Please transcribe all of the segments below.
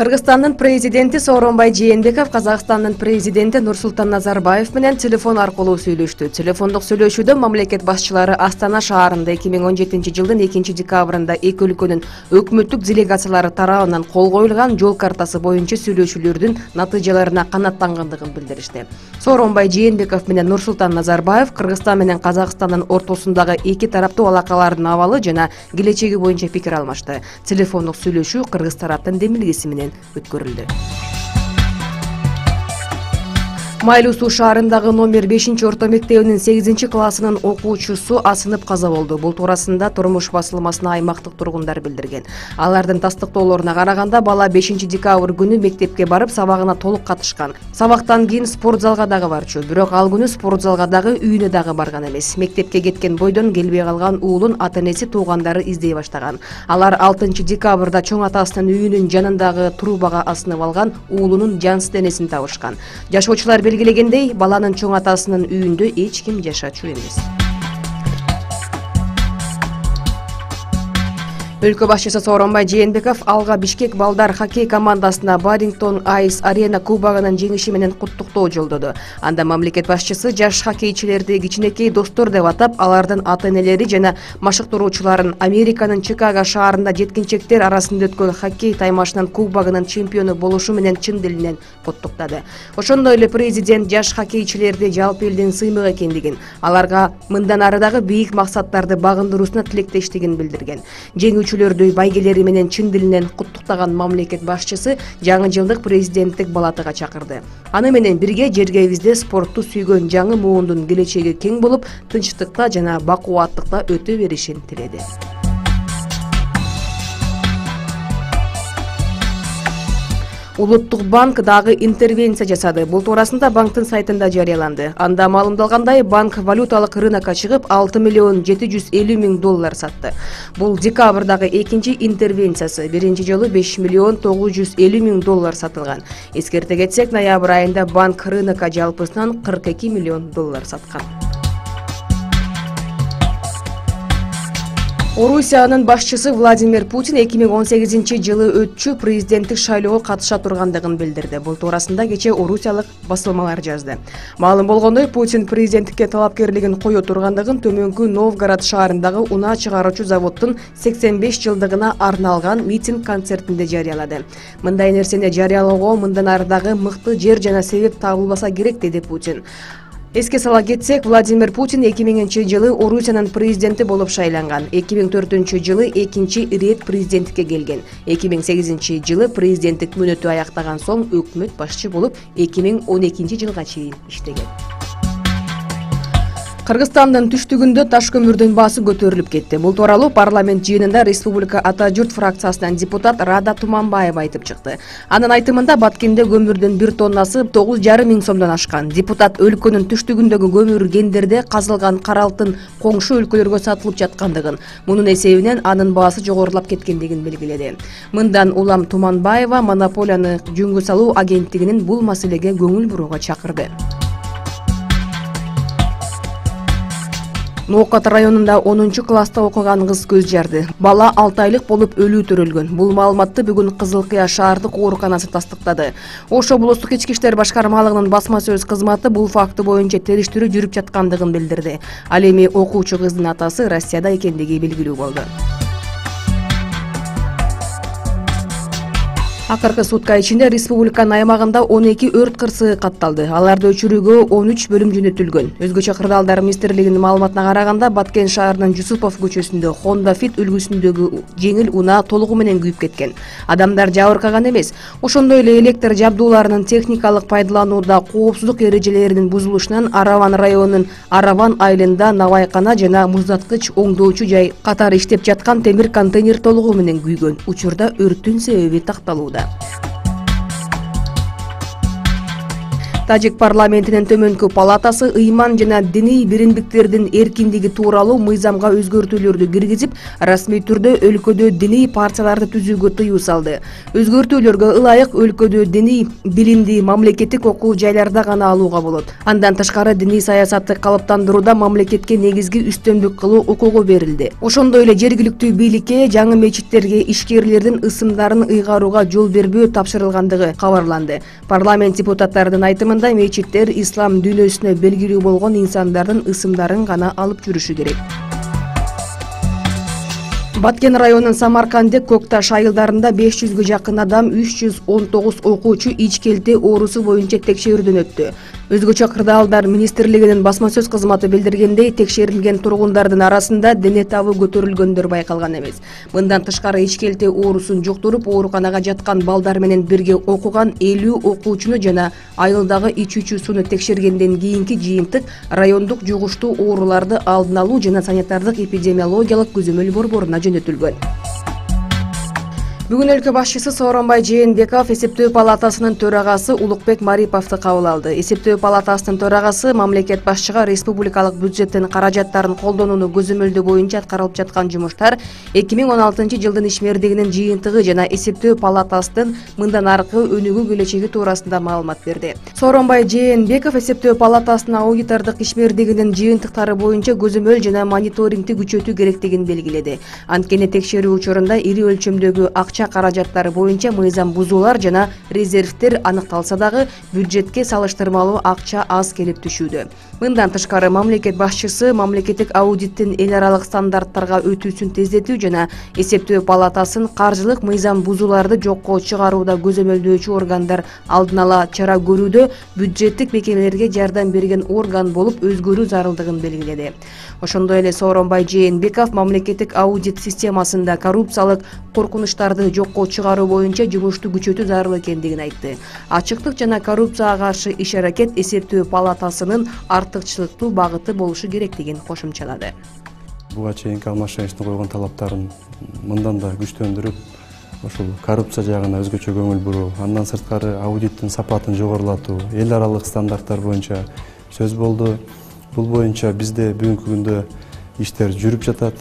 Кыргызстандын президенти Сооронбай Жээнбеков Казакстандын президенти Нурсултан Назарбаев менен телефон аркылуу сүйлөштү. Телефондук сүйлөшүүдө мамлекет башчылары Астана шаарында 2017 жылдын 2-декабрында эки өлкөнүн өкмөттүк делегациялары тарабынан кол коюлган жол картасы боюнча сүйлөшүүлөрдүн натыйжаларына канааттангандыгын билдиришти. Сооронбай Жээнбеков менен Нурсултан Назарбаев Кыргызстан менен Казакстандын ортосундагы эки тараптуу алакалардын абалы жана келечеги боюнча пикир алмашты. Телефондук сүйлөшүү кыргыз тараптын демилгеси менен өткөрүлдү. Майлуу Суу шаарындагы номер 5-орто мектебинин 8-классынын окуучусу асынып каза болду. Бул туурасында турмуш басылмасына аймактык тургундар билдирген. Алардын тастыктоолоруна караганда бала 5-декабрь күнү мектепке барып сабагына толук катышкан. Сабактан кийин спорт залга дагы барчу. Бирок ал күнү спорт залга дагы үйүнө дагы барган эмес. Мектепке кеткен бойдон келбей калган уулун ата-энеси туугандары издей баштаган. Алар 6-декабрда чоң атасынын үйүнүн жанындагы трубага асынып алган уулунун жансыз денесин табышкан. Жашоочулар белгилегендей, баланын чоң атасынын үйүндө эч ким жашачу эмес. Өлкө башчысы Сооронбай Жээнбеков Алга Бишкек балдар хоккей командасына Барингтон Айс Арена кубогунун жеңиши менен куттуктоо жолдоду. Анда мамлекет башчысы жаш хоккейчилерди кичинекей достор деп атап, алардын ата-энелери жана машыктыруучуларын Американын Чикаго шаарында жеткинчектер арасында өткөн хоккей таймашынын кубогунун чемпиону болушу менен чын дилинен куттуктады. Ошондой эле президент жаш хоккейчилерди жалпы элдин сыймык экендигин, аларга мындан ары дагы бийик максаттарды багындыруусуна тилектештигин билдирген. Жеңүүчүлөрдү байгелери менен чын дилинен куттуктаган мамлекет башчысы жаңы жылдык президенттик балатыга чакырды. Аны менен бирге жергебизде спортту сүйгөн жаңы муундун келечеги кең болуп, тынчтыкта жана бакубаттыкта өтө беришин тиледи. Улуттук банк дагы интервенция жасады. Бул туурасында банктын сайтында жарыяланды. Анда маалымдалгандай, банк валюталык рынокко чыгып 6 миллион 750 миң доллар сатты. Бул декабрдагы экинчи интервенциясы. Биринчи жолу 5 миллион 950 миң доллар сатылган. Эскерте кетсек, ноябрь айында банк рынокко жалпысынан 42 миллион доллар саткан. Орусиянын башчысы Владимир Путин 2018 жылы өтчү президенттик шайлоого катыша тургандыгын билдирди. Бул туурасында кече орусиялык басылмалар жазды. Маалым болгондой, Путин президенттикке талапкерлигин кое тургандыгын Төмөнкү Новгород шаарындагы унаа чыгаруучу заводдун 85 жылдыгына арналган митинг концертинде жарыялады. Мындай нерсени жарыялоого мындан ары дагы мыкты жер жана себеп табылбаса керек, деди Путин. Эске сала кетсек, Владимир Путин 2000 жылы Орусиянын президенти болуп шайланган. 2004 жылы экинчи ирет президенттикке келген. 2008 жылы президенттик мөөнөтү аяктаган соң өкмөт башчы болуп 2012 жылга чейин иштеген. Кыргызстандын түштүгүндө таш көмүрдүн баасы көтөрүлүп кетти. Бул тууралуу парламент жыйынында Республика Ата журт фракциясынан депутат Рада Туманбаева айтып чыкты. Анын айтымында Баткенде көмүрдүн 1 тоннасы 9,5 миң сомдон ашкан. Депутат өлкөнүн түштүгүндөгү көмүр кендерде казылган кара алтын коңшу өлкөлөргө сатылып жаткандыгын, мунун эсебинен анын баасы жогорулап кеткендигин белгиледи. Мындан улам Туманбаева монополияны жөнгө салуу агенттигинин бул маселеге көңүл бурууга чакырды. Ноокат районунда 10-класста окуган кыз көз жарды. Бала 6 айлык болуп өлүү төрөлгөн. Бул маалыматты бүгүн Кызыл Кыя шаардык ооруканасы тастыктады. Ош облустук ички иштер башкармалыгынын басма сөз кызматы бул факты боюнча териштирүү жүрүп жаткандыгын билдирди. Ал эми окуучу кыздын атасы Россияда экендиги белгилүү болду. Акыркы сутка ичинде республиканын аймагында 12 өрт кырсыгы катталды. Аларды өчүрүүгө 13 бөлүм жөнөтүлгөн. Өзгөчө кырдаалдар министрлигинин маалыматына караганда, Баткен шаарынын Жусупов көчөсүндө Honda Fit үлгүсүндөгү жеңил унаа толугу менен күйүп кеткен. Адамдар жабыркаган эмес. Ошондой эле электр жабдууларынын техникалык пайдаланууда коопсуздук эрежелеринин бузулушунан Араван районунун Араван айылында навайкана жана муздаткыч оңдоочу жай катары иштеп жаткан темир контейнер толугу менен күйгөн. Учурда өрттүн себеби такталууда. Тажик парламентинин төмөнкү палатасы ыйман жана диний бириндиктердин эркиндиги тууралуу мыйзамга өзгөртүүлөрдү киргизип, расмий түрдө өлкөдө диний партияларды түзүүгө тыюу салды. Өзгөртүүлөргө ылайык өлкөдө диний билимди мамлекеттик окуу жайларда гана алууга болот. Андан тышкары диний саясатты калыптандырууда мамлекетке негизги үстөмдүк кылуу укугу берилди. Ошондой эле жергиликтүү бийликке жаңы мечиттерге ишкерлердин ысымдарын ыйгарууга жол бербөө тапшырылгандыгы кабарланды. Парламент депутаттарынын айтымында мечиттер ислам дүйнөсүнө белгилүү болгон инсандардын ысымдарын гана алып жүрүшү керек. Баткен районунун Самаркандек Көкташ айылдарында 500гө жакын адам 319 окуучу ичкелте оорусу боюнча текшерүүдөн өттү. Өзгөчө кырдаалдар министрлигинин басма сөз кызматы билдиргендей, текшерилген тургундардын арасында дене табы көтөрүлгөндөр байкалган эмес. Мындан тышкары ичкелте оорусун жуктуруп, ооруканага жаткан балдар менен бирге окуган 50 окуучуну жана айылдагы ичүүчү сууну текшергенден кийинки жыйынтык райондук жугуштуу ооруларды алдын алуу жана санитардык эпидемиологиялык көзөмөл борборуна жөнөтүлгөн. Бүгүн өлкө башчысы Сооронбай Жээнбеков эсептөө палатасынын төрагасы Улукбек Мариповду кабыл алды. Эсептөө палатасынын төрагасы мамлекет башчыга республикалык бюджеттин каражаттарын колдонууну көзөмөлдөө боюнча аткарылып жаткан жумуштар 2016 жылдын ишмердигинин жыйынтыгы жана эсептөө палатасынын мындан аркы өнүгүү келечеги туурасында маалымат берди. Сооронбай Жээнбеков эсептөө палатасынын аудитордук ишмердигинин жыйынтыктары боюнча көзөмөл жана мониторингди күчөтүү керектигин белгиледи. Анткени текшерүү учурунда ири өлчөмдөгү акча каражаттары боюнча мыйзам бузуулар жана резервтер аныкталса дагы бюджетке салыштырмалуу акча аз келип түшүүдө. Мындан тышкары мамлекет башчысы мамлекеттик аудиттин эл аралык стандарттарга өтүүсүн тездетүү жана эсептөө палатасын каржылык мыйзам бузууларды жокко чыгарууда көзөмөлдөөчү органдар алдын ала чара көрүүдө бюджеттик мекемелерге жардам берген орган болуп өзгөрүү зарылдыгын белгиледи. Ошондой эле Сооронбай Жээнбеков мамлекеттик аудит системасында коррупциялык коркунучтарды жокко чыгаруу боюнча жумушту күчөтүү зарыл экендигин айтты. Ачыктык жана коррупцияга каршы иш-аракет эсептөө палатасынын артыкчылыктуу багыты болушу керектигин кошумчалады. Буга чейинки алмашчылыктын койгон талаптарын мындан да күчтөндүрүп, ошол коррупция жагына өзгөчө көңүл буруу, андан сырткары аудиттин сапатын жогорулатуу, эл аралык стандарттар боюнча сөз болду. Бул боюнча бизде бүгүнкү күндө иштер жүрүп жатат.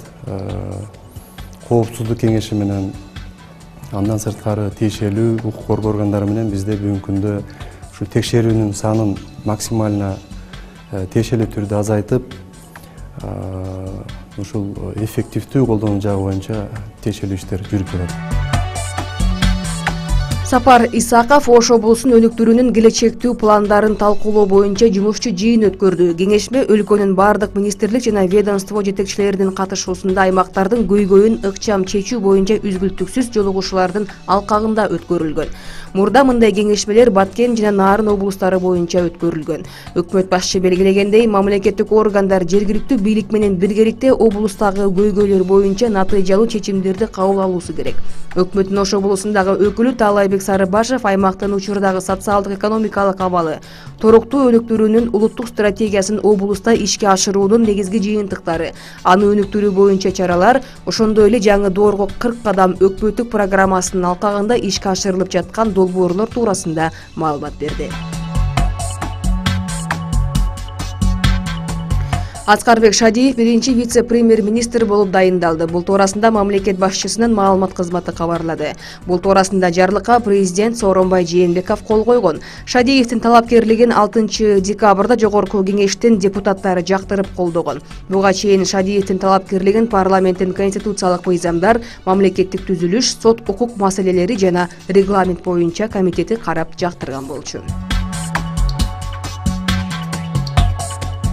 Коопсуздук кеңеши менен, андан сырткары тиешелүү укук коргоо органдары менен бизде бүгүнкү күндө ушу текшерүүнүн санын максимально тиешелүү түрдө азайтып, ушул эффективдүү колдонуу жагы боюнча тиешелүү иштер жүрүп жатат. Сапар Исаков Ош облусунун өнүктүрүүнүн келечектүү пландарын талкуулоо боюнча жумушчу жыйын өткөрдү. Кеңешме өлкөнүн бардык министрлик жана ведомство жетекчилеринин катышуусунда аймактардын көйгөйүн ыкчам чечүү боюнча үзгүлтүксүз жолугушуулардын алкагында өткөрүлгөн. Мурда мындай кеңешмелер Баткен жана Нарын облустары боюнча өткөрүлгөн. Өкмөт башчы белгилегендей, мамлекеттик органдар жергиликтүү бийлик менен биргеликте облустагы көйгөйлөр боюнча натыйжалуу чечимдерди кабыл алуусу керек. Өкмөттүн Ош облусундагы өкүлү Таалайбек Сарыбашев аймактын учурдагы социалдык экономикалык абалы, торуктуу өнүктүрүүнүн улуттук стратегиясын облуста ишке ашыруунун негизги жыйынтыктары, аны өнүктүрүү боюнча чаралар, ошондой эле жаңы доорго 40 кадам өкмөттүк программасынын алкагында ишке ашырылып жаткан долбоорлор туурасында маалымат берди. Аскарбек Шадиев биринчи вице-премьер-министр болуп дайындалды. Бул туурасында мамлекет башчысынын маалымат кызматы кабарлады. Бул туурасында жарлыкка президент Сооронбай Жээнбеков кол койгон. Шадиевдин талапкерлигин 6 декабрда жогорку кеңештин депутаттары жактырып колдогон. Буга чейин Шадиевдин талапкерлигин парламенттин конституциялык мыйзамдар, мамлекеттик түзүлүш, сот укук маселелери жана регламент боюнча комитети карап жактырган болчу.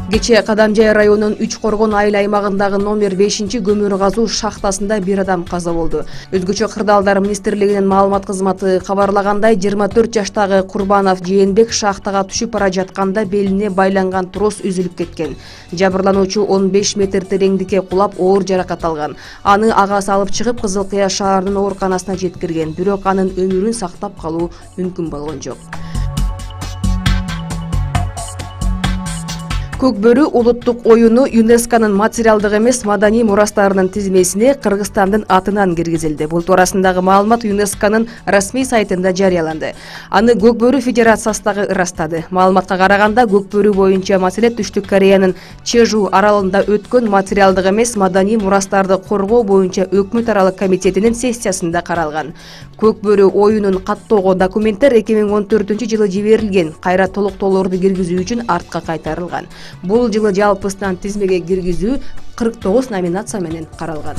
Кечээ Кадамжай районунун 3 коргон айыл аймагындагы номер 5 көмүр казуу шахтасында бир адам каза болду. Өзгөчө кырдаалдар министрлигинин маалымат кызматы кабарлагандай, 24 жаштагы Курбанов Жээнбек шахтага түшүп бара жатканда белине байланган трос үзүлүп кеткен. Жабырлануучу 15 метр тереңдикке кулап оор жаракат алган. Аны агасы алып чыгып Кызыл Кыя шаарынын ооруканасына жеткирген, бирок анын өмүрүн сактап калуу мүмкүн болгон жок. Көк бөрү улуттук оюну ЮНЕСКОнун материалдык эмес маданий мурастарынын тизмесине Кыргызстандын атынан киргизилди. Бул туурасындагы маалымат ЮНЕСКОнун расмий сайтында жарыяланды. Аны Көк бөрү федерациясындагы ырастады. Маалыматка караганда, Көк бөрү боюнча маселе Түштүк Кореянын Чежу аралында өткөн материалдык эмес маданий мурастарды коргоо боюнча өкмөт аралык комитетинин сессиясында каралган. Көк бөрү оюнун каттоого документтер 2014-жылы жиберилген, кайра толуктоолорду киргизүү үчүн артка кайтарылган. Бул жылы жалпысынан тизмеге киргизүү 49 номинация менен каралган.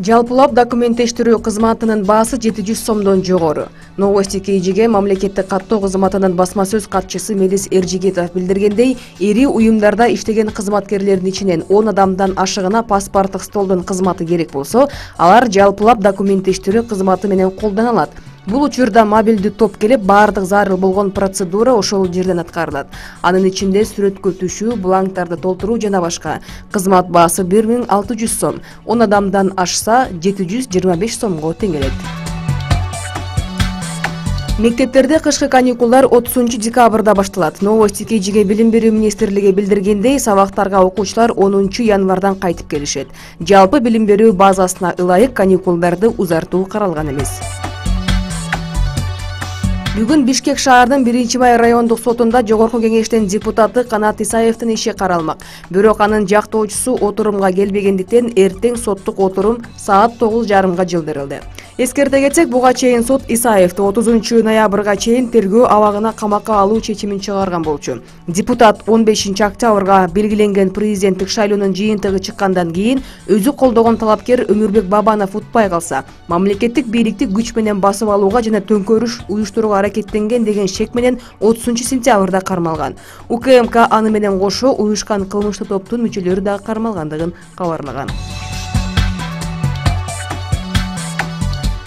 Жалпылап документтештирүү кызматынын баасы 700 сомдон жогору. Новости KG'ге мамлекеттик каттоо кызматынын басма сөз катчысы Мелис Эржигетов билдиргендей, ири уюмдарда иштеген кызматкерлердин ичинен 10 адамдан ашыгына паспорттук столдун кызматы керек болсо, алар жалпылап документтештирүү кызматы менен колдонулат. Бул учурда мобилдүү топ келип, баардык зарыл болгон процедура ошол жерден аткарылат. Анын ичинде сүрөткө түшүү, бланктарды толтуруу жана башка. Кызмат баасы 1600 сом, 10 адамдан ашса 725 сомго тең келет. Мектептерде кышкы каникулдар 30 декабрда башталат. Новости KG'ге билим берүү министрлиги билдиргендей, сабактарга окуучулар 10 январдан кайтып келишет. Жалпы билим берүү базасына ылайык каникулдарды узартуу каралган эмес. Бүгүн Бишкек шаарынын 1-Май райондук сотунда Жогорку кеңештин депутаты Канат Исаевдин иши каралмак. Бирок анын жактоочусу отурумга келбегендиктен эртең соттук отурум саат 9:30 жылдырылды. Эскерте кетсек, буга чейин сот Исаевди 30 ноябрга чейин тергөө абагына камакка алуу чечимин чыгарган болчу. Депутат 15 октябрга белгиленген президенттик шайлоонун жыйынтыгы чыккандан кийин өзү колдогон талапкер Өмүрбек Бабанов утпай калса, мамлекеттик бийликти күч менен басып алууга жана төңкөрүш уюштурууга аракеттенген деген шек менен 30 сентябрда кармалган. УКМК аны менен кошо уюшкан кылмыштуу топтун мүчөлөрү да кармалгандыгын кабарлаган.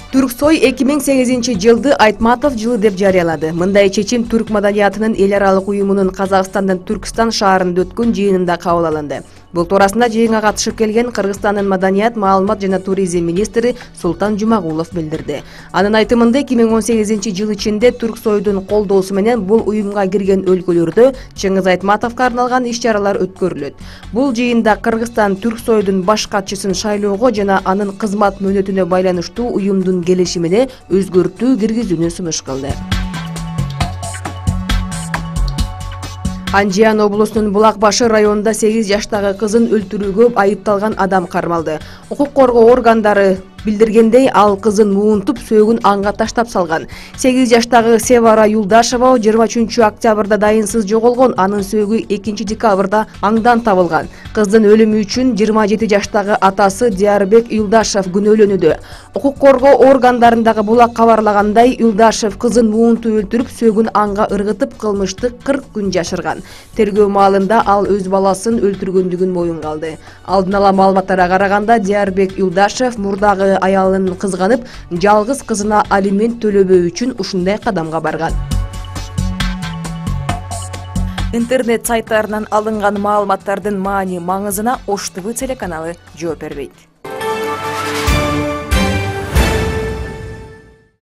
Түрксой 2008 жылды Айтматов жылы деп жарыялады. Мындай чечим түрк маданиятынын эл аралык уюмунун Казакстандын Түркстан шаарында өткөн жыйынында кабыл алынды. Бул туурасында жыйынга катышып келген Кыргызстандын маданият, маалымат жана туризм министри Султан Жумагулов билдирди. Анын айтымында 2018 жыл ичинде Түрксойдун колдоосу менен бул уюмга кирген өлкөлөрдө Чыңгыз Айтматовго арналган иш-чаралар өткөрүлөт. Бул жыйында Кыргызстан Түрксойдун баш катчысын шайлоого жана анын кызмат мөөнөтүнө байланыштуу уюмдун келишимине өзгөртүү киргизүүнү сунуш кылды. Анжиан облусунун Булакбашы районунда 8 жаштагы кызын өлтүрүүгө айыпталган адам кармалды. Укук коргоо органдары билдиргендей, ал кызын муунтуп сөөгүн анга таштап салган. 8 жаштагы Севара Юлдашева 23 октябрда дайынсыз жоголгон, анын сөөгү 2 декабрда аңдан табылган. Кыздын өлүмү үчүн 27 жаштагы атасы Диярбек Юлдашев күнөөлөнүүдө. Укук коргоо органдарындагы булак кабарлагандай, Юлдашев кызын муунтуп өлтүрүп, сөөгүн анга ыргытып, кылмышты 40 күн жашырган. Тергөө маалында ал өз баласын өлтүргөндүгүн моюнга алды. Алдын ала маалыматтарга караганда, Диярбек Юлдашев мурдагы аялын кызганып, жалгыз кызына алимент төлөбөө үчүн ушундай кадамга барган. Интернет сайттарынан алынган маалыматтардын маани маңызына Ош ТВ телеканалы жооп бербейт.